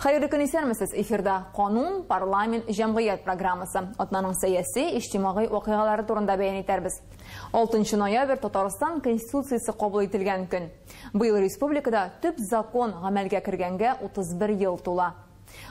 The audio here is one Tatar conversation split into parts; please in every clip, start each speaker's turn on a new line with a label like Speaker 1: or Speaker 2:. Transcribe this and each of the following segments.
Speaker 1: Хәерле көн, исәнмесез! Эфирда «Канун, парламент, җәмгыять» программасы. Атнаның сәяси, иҗтимагый вакыйгалары турында бәян итәрбез. 6 ноябрь Татарстан Конституциясе кабул ителгән көн. Быел республикада төп закон гамәлгә кергәнгә 31 ел тула.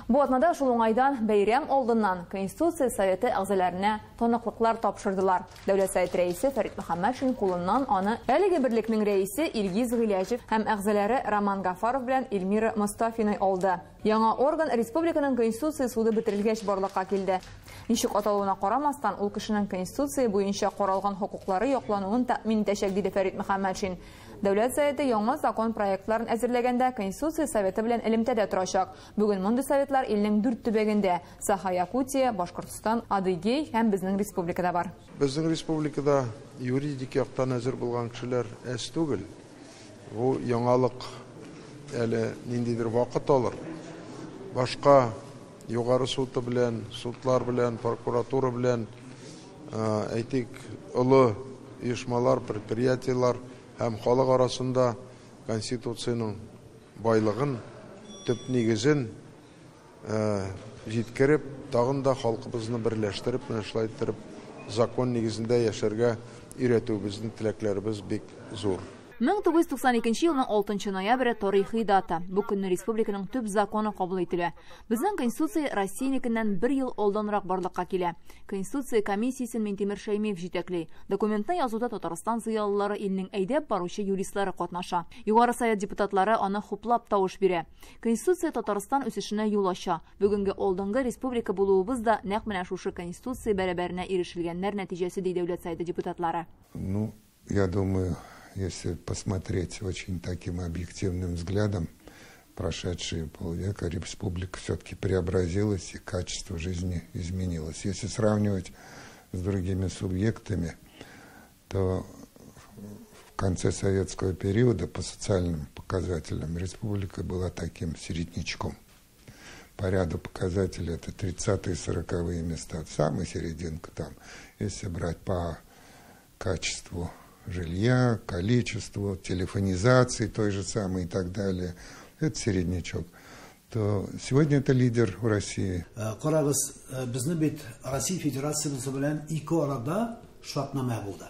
Speaker 1: Бу атнада шул уңайдан бәйрәм алдыннан Конституция Советы әгъзаларына таныклыклар тапшырдылар. Дәүләт Советы рәисе Фәрит Мөхәммәтшин кулыннан аны әлеге берлекнең рәисе Илгиз Гыйләҗев һәм әгъзалары Роман Гафаров белән Эльмира Мостафина алды. Яңа орган республиканың Конституция суды бетерелгәч барлыкка килде. Ничек аталуына карамастан, ул кешенең Конституция буенча каралган хокуклары яклануын тәэмин итәчәк, диде Фәрит Мөхәммәтшин. Дәүләт Советы яңа закон проектларын әзерләгәндә Конституция Советы белән элемтәдә торачак. Бүген мондый советлар илнең 4 төбәгендә: Саха, Якутия, Башкортстан, Адыгей һәм безнең республикада бар.
Speaker 2: Безнең республикада юридик яктан әзер булган кешеләр әз түгел. Бу яңалык әле ниндидер вакыт алыр. Башка югары суды белән, судлар белән, прокуратура белән, әйтик, олы оешмалар, предприятиелар һәм халык арасында Конституциянең байлыгын, төп нигезен җиткереп, тагын да халкыбызны берләштереп, менә шулай иттереп закон нигезендә яшәргә өйрәтүебезнең теләкләребез бик зур.
Speaker 1: 1992 елның 6 ноябре тарихи дата. Бу көнне республиканың төп законы кабул ителә. Безнең Конституция Россиянекеннән бер ел алданрак барлыкка килә. Конституция комиссиясен Минтимер Шәймиев җитәкли. Документны язуда Татарстан зыялылары, илнең әйдәп баручы юристлары катнаша. Югары Совет депутатлары аны хуплап тавыш бирә. Конституция Татарстан үсешенә юл ача. Бүгенге алдынгы республика булуыбыз да нәкъ менә шушы Конституция бәрабәренә ирешелгәннәр нәтиҗәсе, ди Дәүләт Советы депутатлары.
Speaker 3: Ну, я думаю, если посмотреть очень таким объективным взглядом, прошедшие полвека республика все-таки преобразилась и качество жизни изменилось. Если сравнивать с другими субъектами, то в конце советского периода по социальным показателям республика была таким середнячком. По ряду показателей это 30-е, 40-е места, самая серединка там, если брать по качеству жилья, количеству, телефонизации той же самой и так далее, это середнячок, то сегодня это лидер в России.
Speaker 4: Карагыз, безнең бит Россия Федерациясе белән ике арада шартнамә булды.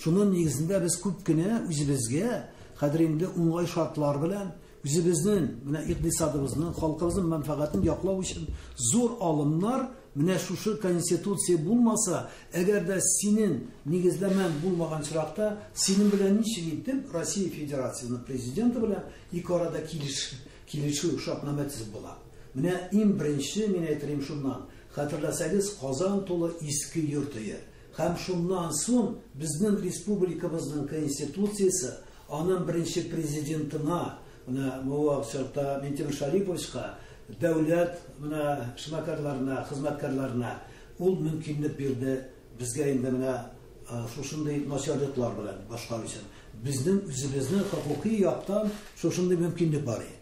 Speaker 4: Шуның нигезендә без күп кенә үзебезгә хәзер инде уңай шартлар белән үзебезнең менә икътисадыбызның, халкыбызның мәнфәгатен яклау өчен зур алымнар. Менә шушы Конституция булмаса, әгәр дә синең нигезләмәң булмаган очракта, синең белән ничек итеп Россия Федерациясының президенты белән ике арада килешү шартнамә төзеп була? Менә иң беренче мин әйтерим шуннан. Хәтерләсәгез, Казан тулы иске йорт өе. Һәм шуннан соң безнең республикабызның Конституциясе аның беренче президентына, менә бу вакытта Минтимер Шариповичка, дәүләт менә эшмәкәрләренә, хезмәткәрләренә ул мөмкинлек бирде безгә инде менә шушындый начарлыклар белән башкару өчен. Безнең үзебезнең хокукый яктан шушындый мөмкинлек бар иде.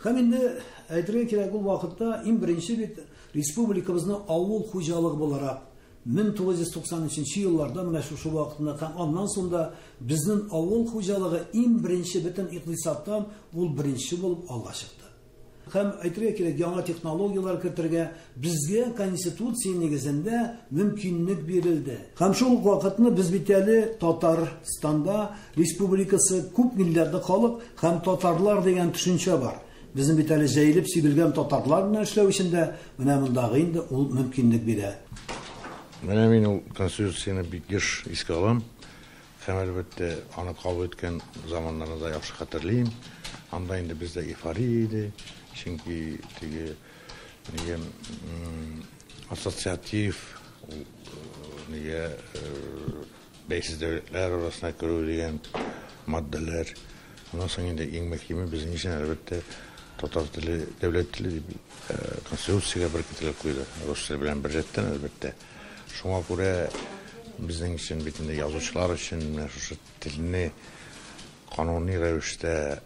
Speaker 4: Һәм инде әйтергә кирәк, ул вакытта иң беренче бит республикабызны авыл хуҗалыгы буларак 1993 елларда менә шушы вакытында һәм аннан соң да безнең авыл хуҗалыгы иң беренче бөтен икътисадтан ул беренче булып алга чыкты. Һәм әйтергә кирәк, яңа технологияләр кертергә безгә Конституция нигезендә мөмкинлек бирелде. Һәм шул ук вакытны без бит әле Татарстанда республикасы күп милләтле халык һәм татарлар дигән төшенчә бар. Безнең бит әле җәелеп сибелгән татарлар белән эшләү өчен дә менә мондагы инде ул мөмкинлек бирә.
Speaker 5: Менә мин ул Конституцияне бик еш искә алам. Һәм әлбәттә аны кабул иткән заманнарны да яхшы хәтерлим. Анда инде бездә эйфория иде. Чөнки теге нигә ассоциатив нигә бәйсез дәүләтләр арасына керү дигән маддәләр. Аннан соң инде иң мөһиме безнең өчен әлбәттә татар теле дәүләт теле дип Конституциягә беркетелеп куйды. Рус теле белән беррәттән әлбәттә. Шуңа күрә безнең өчен бит инде язучылар өчен менә шушы телне кануни рәвештә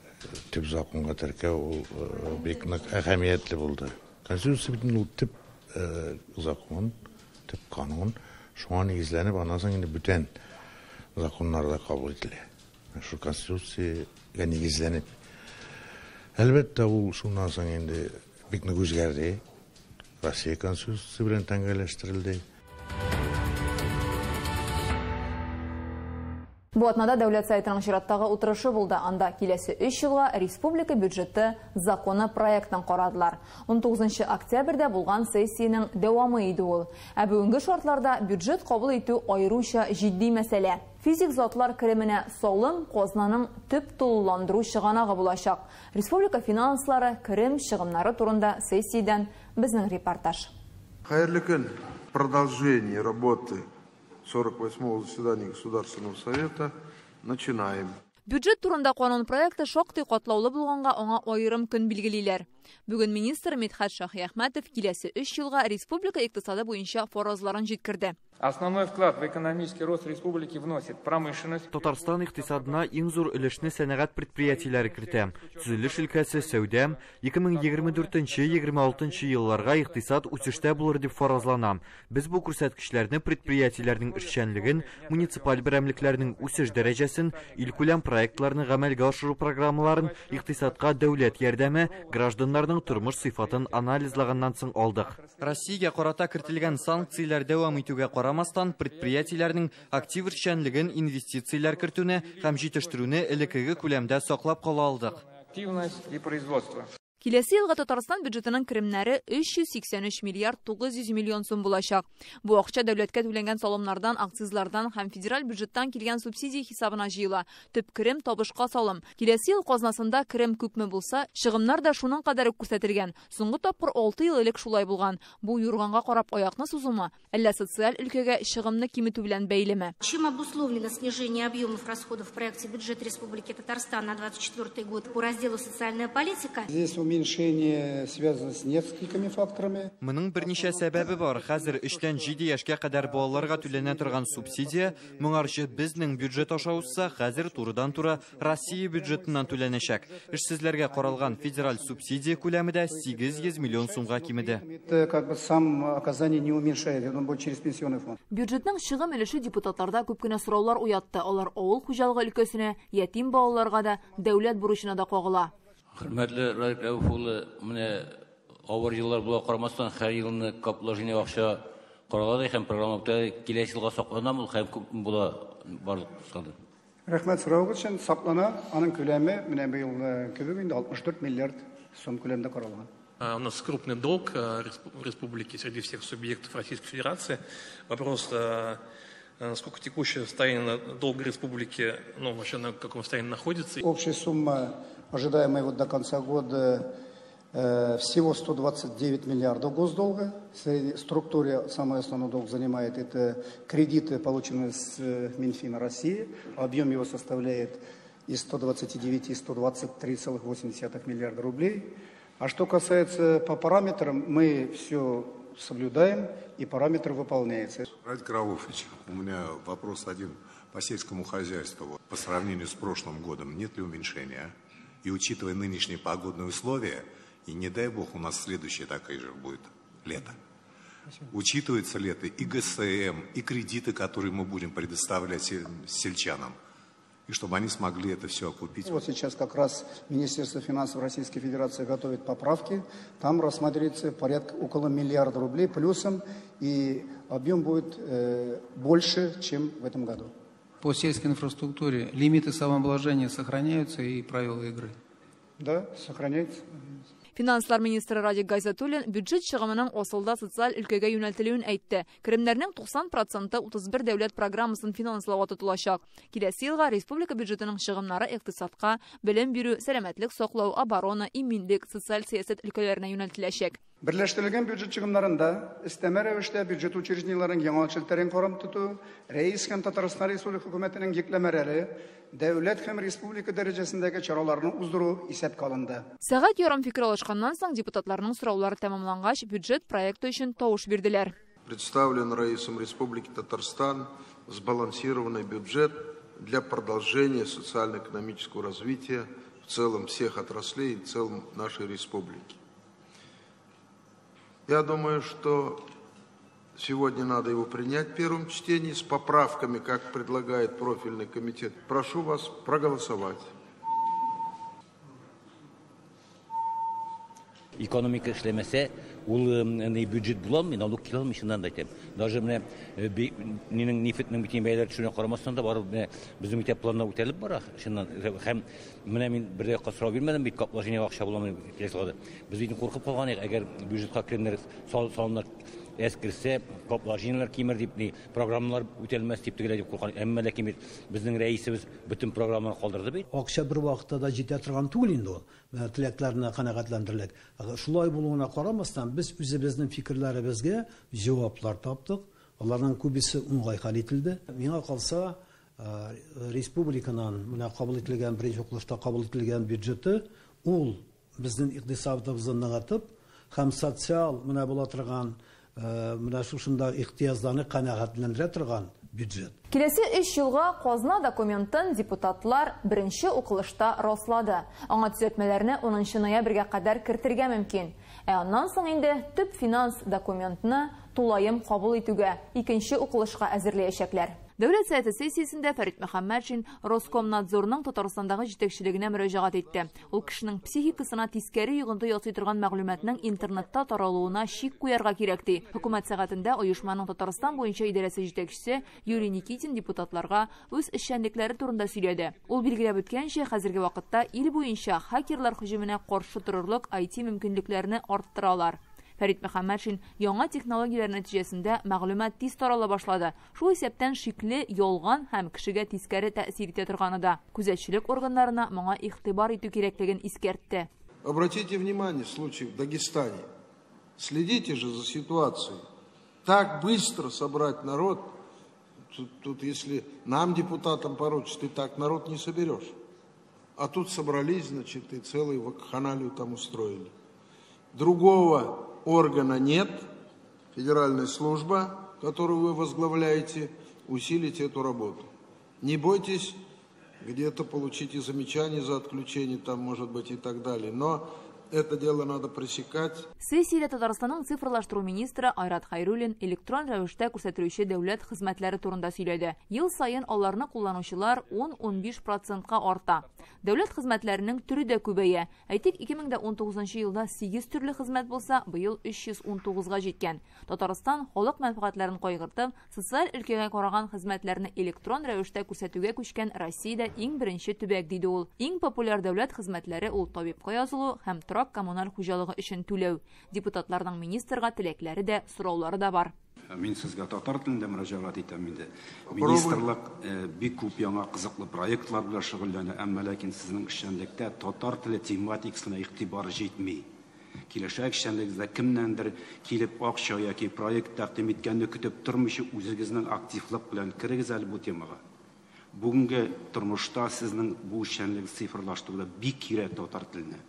Speaker 5: төп законга теркәү ул бик нык әһәмиятле булды. Конституция бит инде ул төп закон, төп канун. Шуңа нигезләнеп, аннан соң инде бүтән законнар да кабул ителә. Шу Конституциягә нигезләнеп. Әлбәттә, ул шуннан соң инде Бик нык үзгәрде. Россия Конституциясе белән тәңгәлләштерелде.
Speaker 1: Бу атнада Дәүләт Советының чираттагы утырышы булды. Анда киләсе 3 елга республика бюджеты законы проектын карадылар. 19 октябрьдә булган сессиянең дәвамы иде ул. Ә бүгенге шартларда бюджет кабул итү аеруча җитди мәсьәлә. Физик затлар кеременә салым казнаның төп тулыландыру чыганагы булачак. Республика финанслары, керем чыгымнары турында сессиядән безнең репортаж.
Speaker 2: Хәерле көн. Продолжение работы 48-го заседания Государственного Совета начинаем.
Speaker 1: Бюджет турында канун проекты шактый катлаулы булганга аңа аерым көн билгелиләр. Бүген министр Мидхәт Шаһиәхмәтов киләсе 3 елга республика икътисады буенча фаразларын җиткерде.
Speaker 6: Основной вклад в экономический рост республики вносит промышленность.
Speaker 7: Татарстан икътисадына иң зур өлешне сәнәгать предприятиеләре кертә. Төзелеш өлкәсе, сәүдә 2024-26 елларга икътисад үсештә булыр дип фаразлана. Без бу күрсәткечләрне предприятиеләрнең эшчәнлеген, муниципаль берәмлекләрнең үсеш дәрәҗәсен, илкүләм проектларны гамәлгә ашыру программаларын, икътисадка дәүләт ярдәме, гражданнарның тормыш сыйфатын анализлаганнан соң алдык.
Speaker 8: Россиягә карата кертелгән санкцияләр дәвам итүгә карамастан, предприятиеләрнең актив эшчәнлеген, инвестицияләр кертүне һәм җитештерүне элеккеге күләмдә саклап кала алдык.
Speaker 6: Активность и производство.
Speaker 1: Киләсе елга Татарстан бюджетының керемнәре 383 миллиард 900 миллион сум булачак. Бу акча дәүләткә түләнгән салымнардан, акцизлардан һәм федераль бюджеттан килгән субсидия хисабына җыела. Төп керем табышка салым. Киләсе ел казнасында керем күпме булса, чыгымнар да шуның кадәр үк күрсәтелгән. Соңгы тапкыр 6 ел элек шулай булган. Бу юрганга карап аякны сузумы, әллә социаль өлкәгә чыгымны киметү белән бәйлеме?
Speaker 9: Чем обусловлено снижение объемов расходов в проекте бюджета Республики Татарстан на 2024 год по разделу «Социальная политика»?
Speaker 10: Здесь уменьшение связано с несколькими факторами.
Speaker 8: Моның берничә сәбәбе бар. Хәзер 3-тән 7 яшькә кадәр балаларга түләнә торган субсидия моңарчы безнең бюджет аша узса, хәзер турыдан-тура Россия бюджетыннан түләнәчәк. Эшсезләргә каралган федераль субсидия күләме дә 800 миллион сумга кимеде.
Speaker 10: Это как бы сам оказание не уменьшает, он будет через пенсионный фонд.
Speaker 1: Бюджетның чыгым өлеше депутатларда күп кенә сораулар уятты. Алар авыл хуҗалыгы өлкәсенә, ятим балаларга да, дәүләт бурычына да кагыла.
Speaker 11: Хөрмәтле Радик Рәүф улы, менә авыр еллар була карамастан, һәр елны капложение акча каралады һәм программа үтә, киләсе елга сакланамы ул һәм күпме була барлык санда?
Speaker 10: Рәхмәт соравыгыз өчен. Саклана, аның күләме менә быел кебек инде 64 миллиард сум күләмдә каралган.
Speaker 12: У нас крупный долг республики среди всех субъектов Российской Федерации. Вопрос, насколько текущее состояние долга республики, ну, вообще на каком состоянии находится.
Speaker 10: Общая сумма, ожидаемая вот до конца года, всего 129 миллиардов госдолга. В структуре самый основной долг занимает это кредиты, полученные с Минфина России. Объем его составляет из 129 и 123,8 миллиарда рублей. А что касается по параметрам, мы все соблюдаем, и параметры выполняются.
Speaker 13: Радик Рауфович, у меня вопрос один по сельскому хозяйству. По сравнению с прошлым годом, нет ли уменьшения? И учитывая нынешние погодные условия, и не дай бог у нас следующее такое же будет лето. Учитывается ли это и ГСМ, и кредиты, которые мы будем предоставлять сельчанам, и чтобы они смогли это все окупить.
Speaker 10: Вот сейчас как раз Министерство финансов Российской Федерации готовит поправки. Там рассматривается порядка около миллиарда рублей плюсом, и объем будет больше, чем в этом году.
Speaker 14: По сельской инфраструктуре лимиты самообложения сохраняются и правила игры?
Speaker 10: Да, сохраняются.
Speaker 1: Финанслар министры Радик Гайзатуллин бюджет чыгымының асылда социаль өлкәгә юнәлтелүен әйтте. Керемнәрнең 90% 31 дәүләт программасын финанслауга тотылачак. Киләсе елга республика бюджетының чыгымнары икътисадка, белем бирү, сәламәтлек саклау, оборона, иминлек, социаль сәясәт өлкәләренә юнәлтеләчәк.
Speaker 10: Берләштерелгән бюджет чыгымнарында өстәмә рәвештә бюджет учреждениеләренең яңа челтәрен карап тоту, рәис һәм Татарстан Республика хөкүмәтенең йөкләмәләре, дәүләт һәм республика дәрәҗәсендәге чараларны уздыру исәпкә алынды.
Speaker 1: Сәгать ярым фикер алышканнан соң депутатларның сораулары тәмамлангач, бюджет проекты өчен тавыш бирделәр.
Speaker 2: Представлен Раисом Республики Татарстан сбалансированный бюджет для продолжения социально-экономического развития в целом всех отраслей и в целом нашей республики. Я думаю, что сегодня надо его принять в первом чтении с поправками, как предлагает профильный комитет. Прошу вас проголосовать.
Speaker 11: Экономика эшләмәсә, ул бюджет була алмый, налог килә алмый, чыннан да әйтәм. Даже менә нинең нефтьнең бөтен бәяләре төшүенә карамастан да барып менә безнең үтә планнар үтәлеп бара, чыннан. Һәм менә мин бер дә сорау бирмәдем бит, капложение акча буламы киләсе елга. Без бит куркып калган идек, әгәр бюджетка керемнәр салымнар әз керсә, капложениеләр кимер дип, ни программалар үтәлмәс дип тегеләй дип куркан. Әмма ләкин бит безнең рәисебез бөтен программаны калдырды бит.
Speaker 4: Акча бер вакытта да җитә торган түгел инде ул. Теләкләренә канәгатьләндерелек. Шулай булуына карамастан, без үзебезнең фикерләребезгә җаваплар таптык. Аларның күбесе уңай хәл ителде. Миңа калса, республиканың менә кабул ителгән беренче укылышта кабул ителгән бюджеты ул безнең икътисадыбызны ныгытып һәм социаль менә була торган менә шушында ихтыяҗларны канәгатьләндерә торган бюджет.
Speaker 1: Киләсе 3 елга казна документын депутатлар беренче укылышта раслады. Аңа төзәтмәләрне 10 ноябрьгә кадәр кертергә мөмкин. Ә аннан соң инде төп финанс документны тулаем кабул итүгә икенче укылышка әзерләячәкләр. Дәүләт Советы сессиясендә Фәрит Мөхәммәтшин Роскомнадзорның Татарстандагы җитәкчелегенә мөрәҗәгать итте. Ул кешенең психикасына тискәре йогынты ясый торган мәгълүматның интернетта таралуына шик куярга кирәк ди. Хөкүмәт сәгатендә оешманың Татарстан буенча идарәсе җитәкчесе Юрий Никитин депутатларга үз эшчәнлекләре турында сөйләде. Ул билгеләп үткәнчә, хәзерге вакытта ил буенча хакерлар һөҗүменә каршы торырлык IT мөмкинлекләрне арттыралар. Фәрит Мөхәммәтшин яңа технологияләр нәтиҗәсендә мәгълүмат тиз тарала башлады. Шул исәптән шикле, ялган һәм кешегә тискәре тәэсир итә торганы да. Күзәтчелек органнарына моңа игътибар итү кирәклеген искәртте.
Speaker 2: Обратите внимание, случай в Дагестане. Следите же за ситуацией. Так быстро собрать народ, тут если нам, депутатам, поручат, ты так народ не соберешь. А тут собрались, значит, и целую вакханалию там устроили. Другого органа нет, федеральная служба, которую вы возглавляете, усилите эту работу. Не бойтесь, где-то получите замечания за отключение, там, может быть, и так далее. Но это дело надо пресекать.
Speaker 1: Сессиядә Татарстанның цифрлаштыру министры Айрат Хайруллин электрон рәвештә күрсәтелүче дәүләт хезмәтләре турында сөйләде. Ел саен аларны кулланучылар 10-15%-ка арта. Дәүләт хезмәтләренең төре дә күбәя. Әйтик, 2019 елда 8 төрле хезмәт булса, быел 319-га җиткән. Татарстан халык мәнфәгатьләрен кайгыртып, социаль өлкәгә караган хезмәтләрне электрон рәвештә күрсәтүгә күчкән Россиядә иң беренче төбәк, диде ул. Иң популяр дәүләт хезмәтләре ул табибка язылу һәм торак коммуналь хуҗалыгы өчен түләү. Депутатларның министрга теләкләре дә, сораулары да бар.
Speaker 15: Мин сезгә татар телендә мөрәҗәгать итәм инде. Министрлык бик күп яңа кызыклы проектлар белән шөгыльләнә, әмма ләкин сезнең эшчәнлектә татар теле тематикасына игътибар җитми. Киләчәк эшчәнлегегездә кемнәндер килеп акча яки проект тәкъдим иткәнне көтеп тормыйча үзегезнең активлык белән керегез әле бу темага. Бүгенге тормышта сезнең бу эшчәнлек цифрлаштыруда бик кирәк татар теленә.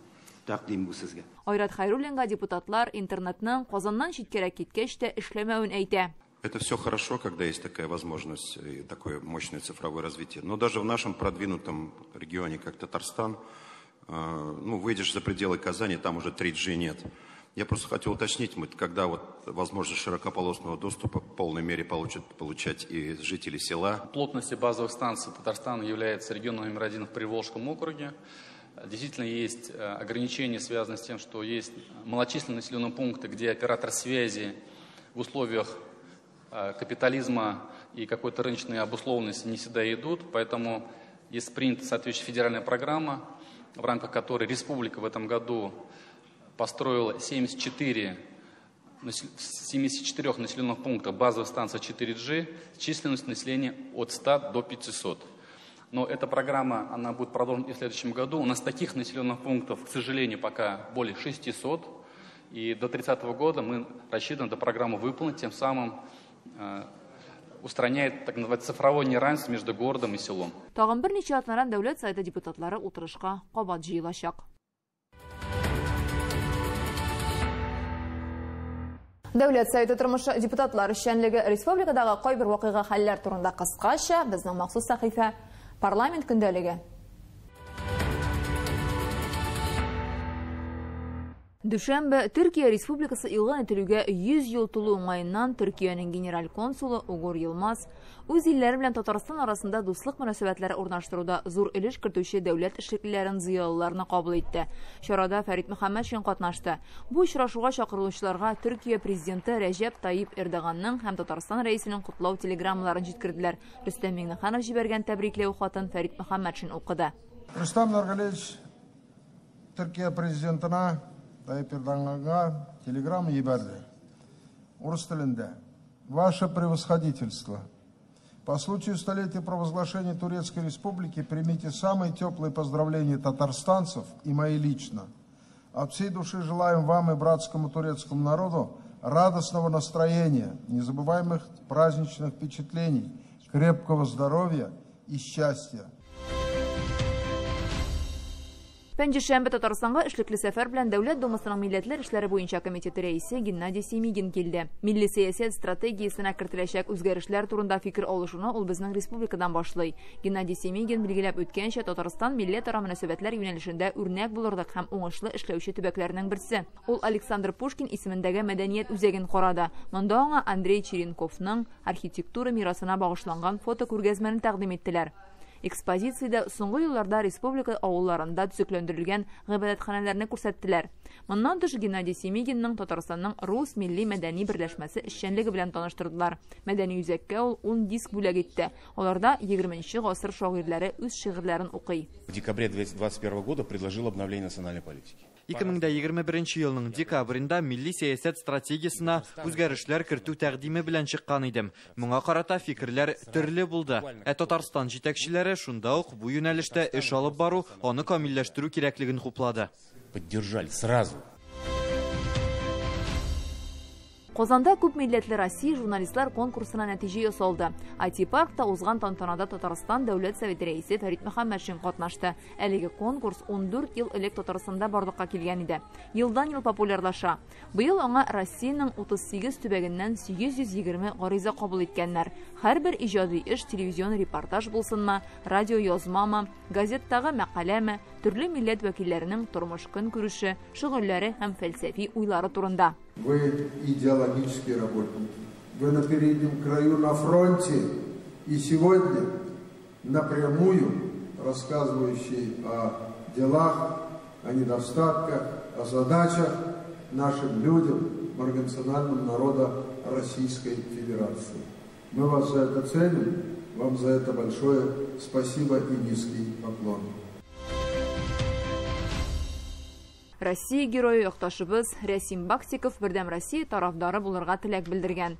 Speaker 15: Тәкъдим бу сезгә.
Speaker 1: Айрат Хайруллинга депутатлар интернетның Казаннан читкәрәк киткәч тә эшләмәвен әйтә.
Speaker 16: Это все хорошо, когда есть такая возможность и такое мощное цифровое развитие. Но даже в нашем продвинутом регионе, как Татарстан, ну, выйдешь за пределы Казани, там уже 3G нет. Я просто хотел уточнить, мы, когда вот возможность широкополосного доступа в полной мере получать и жители села.
Speaker 17: Плотность базовых станций Татарстана является регионом номер 1 в Приволжском округе. Действительно есть ограничения, связанные с тем, что есть малочисленные населенные пункты, где оператор связи в условиях капитализма и какой-то рыночной обусловленности не всегда идут. Поэтому есть принята соответствующая федеральная программа, в рамках которой республика в этом году построила 74 населенных пунктах базовых станций 4G с численностью населения от 100 до 500. Но эта программа, она будет продолжена и в следующем году. У нас таких населенных пунктов, к сожалению, пока более 600. И до 30 года мы рассчитываем эту программу выполнить, тем самым устраняет так называемое цифровое неравенство между городом и селом.
Speaker 1: Тагын берничә атнадан Дәүләт Советы депутатлары утырышка кабат җыелачак. Дәүләт Советы тормышы, депутатлар эшчәнлеге, республикадагы кайбер вакыйга хәлләр турында кыскача безнең махсус сәхифә Парламент көндәлеге. Дүшәмбе Төркия Республикасы игълан ителүгә 100 ел тулу уңаеннан Төркиянең генераль консулы Угур Йылмаз үз илләре белән Татарстан арасында дуслык мөнәсәбәтләре урнаштыруда зур өлеш кертүче дәүләт эшлеклеләрен, зыялыларны кабул итте. Чарада Фәрит Мөхәммәтшин катнашты. Бу очрашуга чакырылучыларга Төркия президенты Рәҗәп Тайип Эрдоганның һәм Татарстан рәисенең котлау телеграммаларын җиткерделәр. Рөстәм Миңнеханов җибәргән тәбрикләү хатын Фәрит Мөхәммәтшин укыды.
Speaker 2: Рөстәм Нургалиевич Төркия президентына Тайип Эрдоганга телеграмма җибәрде. Урыс телендә. Ваше превосходительство, по случаю столетия провозглашения Турецкой Республики примите самые теплые поздравления татарстанцев и мои лично. От всей души желаем вам и братскому турецкому народу радостного настроения, незабываемых праздничных впечатлений, крепкого здоровья и счастья.
Speaker 1: Пәнҗешәмбе Татарстанга эшлекле сәфәр белән Дәүләт Думасының милләтләр эшләре буенча комитеты рәисе Геннадий Семигин килде. Милли сәясәт стратегиясенә кертеләчәк үзгәрешләр турында фикер алышуны ул безнең республикадан башлый. Геннадий Семигин билгеләп үткәнчә, Татарстан милләтара мөнәсәбәтләр юнәлешендә үрнәк булырлык һәм уңышлы эшләүче төбәкләрнең берсе. Ул Александр Пушкин исемендәге мәдәният үзәген карады. Монда аңа Андрей Черенковның архитектура мирасына багышланган фотокүргәзмәне тәкъдим иттеләр. Экспозициядә соңгы елларда республика авылларында төзекләндерелгән гыйбадәтханәләрне күрсәттеләр. Моннан тыш Геннадий Семигинның Татарстанның рус милли мәдәни берләшмәсе эшчәнлеге белән таныштырдылар. Мәдәни үзәккә ул 10 диск бүләк итте. Аларда 20 гасыр шагыйрьләре үз шигырьләрен укый.
Speaker 18: В декабре 2021 года предложил обновление национальной политики.
Speaker 8: 2021 елның декабрендә милли сәясәт стратегиясенә үзгәрешләр кертү тәкъдиме белән чыккан идем. Моңа карата фикерләр төрле булды. Ә Татарстан җитәкчеләре шунда ук бу юнәлештә эш алып бару, аны камилләштерү кирәклеген хуплады.
Speaker 18: Поддержали сразу.
Speaker 1: Казанда күп милләтле Россия журналистлар конкурсына нәтиҗә ясалды. IT-паркта узган тантанада Татарстан Дәүләт Советы рәисе Фәрит Мөхәммәтшин катнашты. Әлеге конкурс 14 ел элек Татарстанда барлыкка килгән иде. Елдан-ел популярлаша. Быел аңа Россиянең 38 төбәгеннән 820 гариза кабул иткәннәр. Һәрбер иҗади эш телевизион репортаж булсынмы, радио язмамы, газеттагы мәкаләме, төрле милләт вәкилләренең тормыш-көнкүреше, шөгыльләре һәм фәлсәфи уйлары турында.
Speaker 2: Вы идеологические работники. Вы на переднем краю, на фронте. И сегодня напрямую рассказывающие о делах, о недостатках, о задачах нашим людям, многонациональным народа Российской Федерации. Мы вас за это ценим, вам за это большое спасибо и низкий поклон.
Speaker 1: Россия герое якташыбыз Рәсим Баксиков Бердәм Россия тарафдары булырга теләк белдергән.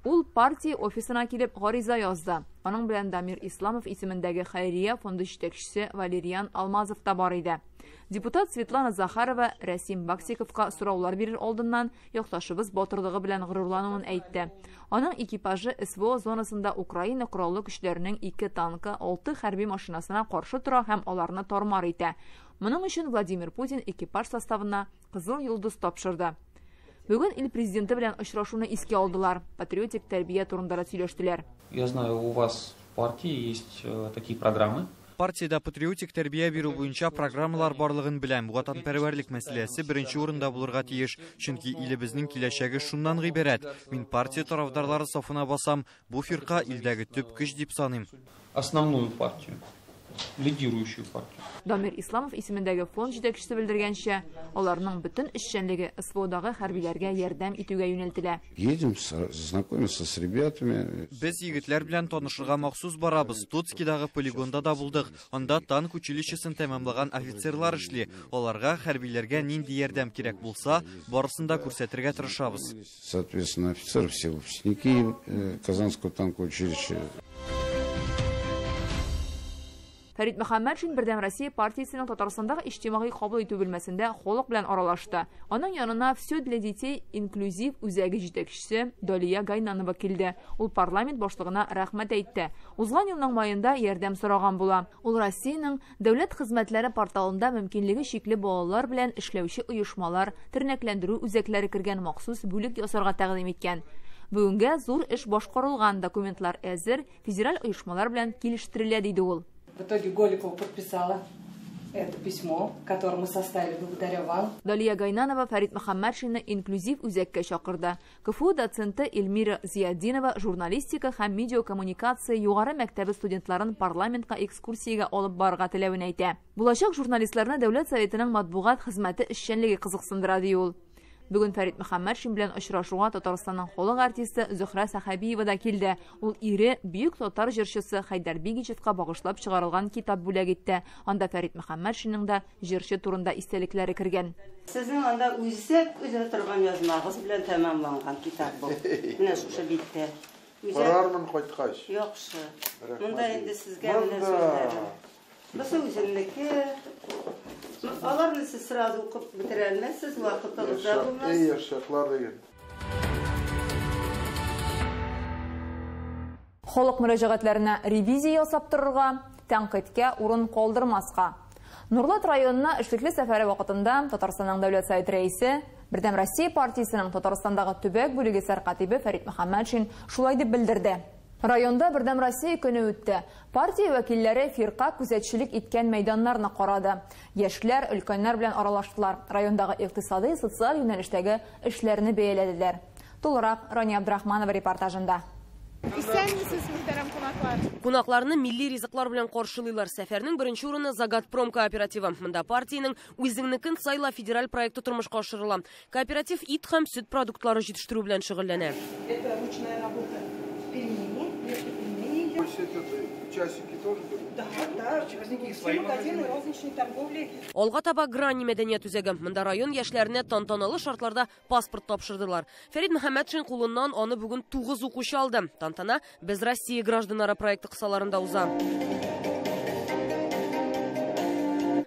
Speaker 1: Ул партия офисына килеп гариза язды. Аның белән Дамир Исламов исемендәге хәйрия фонды җитәкчесе Валериан Алмазов та бар иде. Депутат Светлана Захарова Рәсим Баксиковка сораулар бирер алдыннан якташыбыз батырлыгы белән горурлануын әйтте. Аның экипажы СВО зонасында Украина кораллы көчләренең 2 танкы, 6 хәрби машинасына каршы тора һәм аларны тормар итә. Моның өчен Владимир Путин экипаж составына Кызыл йолдыз тапшырды. Бүген ил президенты белән очрашуны искә алдылар. Патриотик тәрбия турында да сөйләштеләр.
Speaker 19: Я знаю, у вас в партии есть такие программы.
Speaker 8: Партиядә патриотик тәрбия бирү буенча программалар барлыгын беләм. Ватанпәрвәрлек мәсьәләсе беренче урында булырга тиеш, чөнки илебезнең киләчәге шуннан гыйбарәт. Мин партия тарафдарлары сафына басам, бу фирка илдәге төп көч дип саныйм.
Speaker 19: Основную партию, лидирующую партию.
Speaker 1: Дамир Исламов исемендәге фонд җитәкчесе белдергәнчә, аларның бөтен эшчәнлеге СВОдагы хәрбиләргә ярдәм итүгә юнәлтелә.
Speaker 20: Едем знакомиться с ребятами.
Speaker 8: Без егетләр белән танышырга махсус барабыз. Тоцкидагы полигонда да булдык. Анда танк училищесын тәмамлаган офицерлар эшли. Аларга хәрбиләргә нинди ярдәм кирәк булса, барысын да күрсәтергә тырышабыз.
Speaker 20: Соответственно, офицеры все выпускники Казанского танкового училища.
Speaker 1: Фәрит Мөхәммәтшин Бердәм Россия партиясенең Татарстандагы иҗтимагый кабул итү бүлмәсендә халык белән аралашты. Аның янына «Все для детей» инклюзив үзәге җитәкчесе Далия Гайнанова килде. Ул парламент башлыгына рәхмәт әйтте. Узган елның маенда ярдәм сораган була. Ул Россиянең дәүләт хезмәтләре порталында мөмкинлеге чикле балалар белән эшләүче оешмалар, тернәкләндерү үзәкләре кергән махсус бүлек ясарга тәкъдим иткән. Бүгенгә зур эш башкарылган, документлар әзер, федераль оешмалар белән килештерелә, диде ул.
Speaker 21: В итоге Голикова подписала Это письмо, которое мы составили благодаря вам.
Speaker 1: Далия Гайнанова Фәрит Мөхәммәтшинны инклюзив үзәккә чакырды. КФУ доценты Эльмира Зиятдинова журналистика һәм медиакоммуникация югары мәктәбе студентларын парламентка экскурсиягә алып барырга теләвен әйтә. Булачак журналистларны Дәүләт Советының матбугат хезмәте эшчәнлеге кызыксындыра, ди ул. Бүген Фәрит Мөхәммәтшин белән очрашуга Татарстанның халык артисты Зөһрә Сәхәбиева да килде. Ул ире бөек татар җырчысы Хәйдәр Бигичевка багышлап чыгарылган китап бүләк итте. Анда Фәрит Мөхәммәтшинның да җырчы турында истәлекләре кергән.
Speaker 22: Сезнең анда үзәк өзә торган язмагыз белән тәмамланган китап бу. Менә шушы биттә.
Speaker 2: Карармын кайткач.
Speaker 22: Яхшы. Монда инде сезгә менә сүзләрем. Бусы үземнеке. Аларны сез сразу укып бетерә алмассыз, вакытыгыз да булмас.
Speaker 2: Эй, яшьләр диген.
Speaker 1: Халык мөрәҗәгатьләренә ревизия ясап торырга, тәнкыйтькә урын калдырмаска. Нурлат районына эшлекле сәфәре вакытында Татарстанның Дәүләт Советы рәисе, Бердәм Россия партиясенең Татарстандагы төбәк бүлеге сәркатибе Фәрит Мөхәммәтшин шулай дип белдерде. Районда Бердәм Россия көне үтте. Партия вәкилләре фирка күзәтчелек иткән мәйданнарны карады. Яшьләр, өлкәннәр белән аралаштылар. Райондагы икътисади, социаль юнәлештәге эшләрне бәяләделәр. Тулырак Рания Абдрахманова репортажында.
Speaker 23: Исәнмесез, мөхтәрәм кунаклар.
Speaker 24: Кунакларны милли ризыклар белән каршылыйлар. Сәфәрнең беренче урыны Загатпром кооперативы. Монда партиянең Үзеңнекен сайла федераль проекты тормышка ашырыла. Кооператив ит һәм сөт продуктлары җитештерү белән шөгыльләнә.
Speaker 21: Это ручная работа. Пельмени, пельмени.
Speaker 2: Часики тоже берут?
Speaker 21: Да, да. Все магазины розничной торговли.
Speaker 24: Алга таба Грани мәдәният үзәге. Монда район яшьләренә тантаналы шартларда паспорт тапшырдылар. Фәрит Мөхәммәтшин кулыннан аны бүген 9 укучы алды. Тантана Без Россия гражданнары проекты кысаларында уза.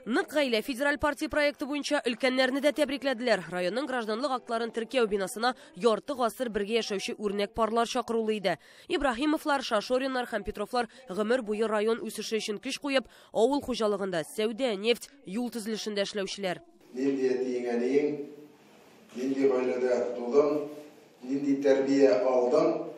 Speaker 24: Нык гаилә федераль партия проекты буенча өлкәннәрне дә тәбрикләделәр. Районның гражданлык актларын теркәү бинасына ярты гасыр бергә яшәүче үрнәк парлар чакырулы иде. Ибраһимовлар, Шашориннар һәм Петровлар гомер буе район үсеше өчен көч куеп, авыл хуҗалыгында, сәүдә, нефть, юл төзелешендә эшләүчеләр.
Speaker 2: Нинди әтиең, әниең, нинди гаиләдә тудың, нинди тәрбия алдың,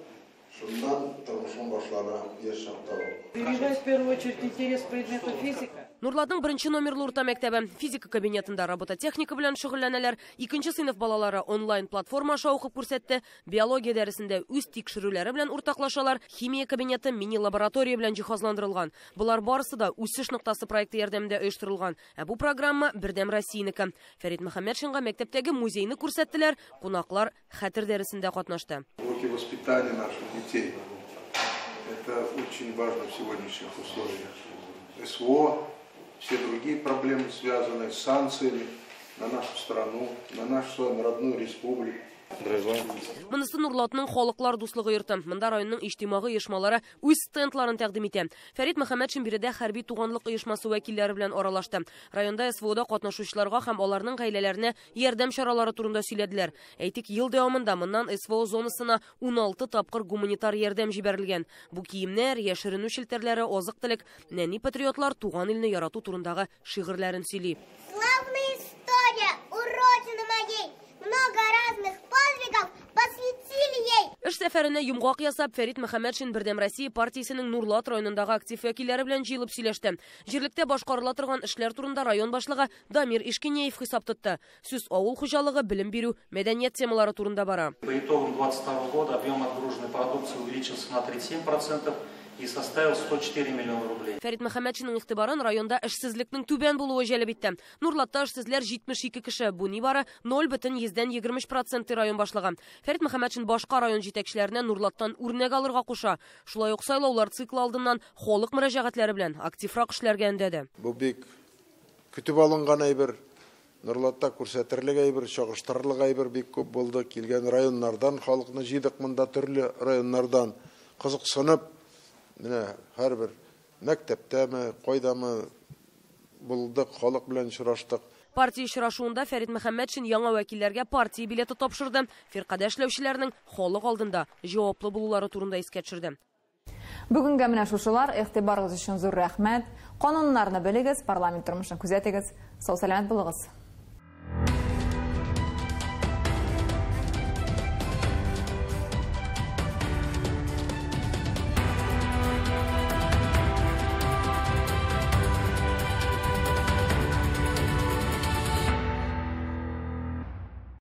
Speaker 2: шуннан тормышың башлана яшь чакта ук.
Speaker 21: Прививать в первую очередь интерес к предмету физика.
Speaker 24: Нурлатның беренче номерлы урта мәктәбе физика кабинетында робототехника белән шөгыльләнәләр. Икенче сыйныф балалары онлайн платформа аша укып күрсәтте. Биология дәресендә үз тикшерүләре белән уртаклашалар. Химия кабинеты мини-лаборатория белән җиһазландырылган. Болар барысы да үсеш ноктасы проекты ярдәмендә оештырылган. Ә бу программа Бердәм Россиянеке. Фәрит Мөхәммәтшинга мәктәптәге музейны күрсәттеләр. Кунаклар хәтер дәресендә катнашты.
Speaker 2: Уроки воспитания наших детей. Это очень важно в сегодняшних условиях. СВО, все другие проблемы, связанные с санкциями на нашу страну, на нашу с вами родную республику.
Speaker 24: Монысы Нурлатның халыклар дуслыгы йорты. Монда районның иҗтимагый оешмалары үз стендларын тәкъдим итә. Фәрит Мөхәммәтшин биредә хәрби туганлык оешмасы вәкилләре белән аралашты. Районда СВОда катнашучыларга һәм аларның гаиләләренә ярдәм чаралары турында сөйләделәр. Әйтик, ел дәвамында моннан СВО зонасына 16 тапкыр гуманитар ярдәм җибәрелгән. Бу киемнәр, яшеренү челтәрләре, азык-төлек, нәни патриотлар туган илне ярату турындагы шигырьләрен сөйли.
Speaker 25: Славная история у родины моей. Много разных подвигов посвятили ей.
Speaker 24: Эш сәфәренә йомгак ясап, Фәрит Мөхәммәтшин Бердәм Россия партиясенең Нурлат районындагы актив вәкилләре белән җыелып сөйләште. Җирлектә башкарыла торган эшләр турында район башлыгы Дамир Ишкинеев хисап тотты. Сүз авыл хуҗалыгы, белем бирү, мәдәният темалары турында бара.
Speaker 26: По итогам 2022 года объем отгруженной продукции увеличился на 37% и составил 104 миллиона рублей.
Speaker 24: Фәрит Мөхәммәтшинның игътибарын районда эшсезлекнең түбән булуы җәлеп итте. Нурлатта эшсезләр 72 кеше, бу нибары 0,23% район башлыгы. Фәрит Мөхәммәтшин башка район җитәкчеләренә Нурлаттан үрнәк алырга куша. Шулай ук сайлаулар циклы алдыннан халык мөрәҗәгатьләре белән активрак эшләргә өндәде.
Speaker 2: Бу бик көтеп алынган әйбер, Нурлатта күрсәтерлек әйбер, чагыштырырлык әйбер бик күп булды. Килгән районнардан халыкны җыйдык монда, төрле районнардан кызыксынып, менә һәрбер мәктәптәме, кайдамы булдык, халык белән очраштык.
Speaker 24: Партия очрашуында Фәрит Мөхәммәтшин яңа вәкилләргә партия билеты тапшырды. Фиркадә эшләүчеләрнең халык алдында җаваплы булулары турында искә төшерде.
Speaker 1: Бүгенгә менә шушылар. Игътибарыгыз өчен зур рәхмәт. Кануннарны белегез, парламент тормышын күзәтегез. Сау-сәламәт булыгыз.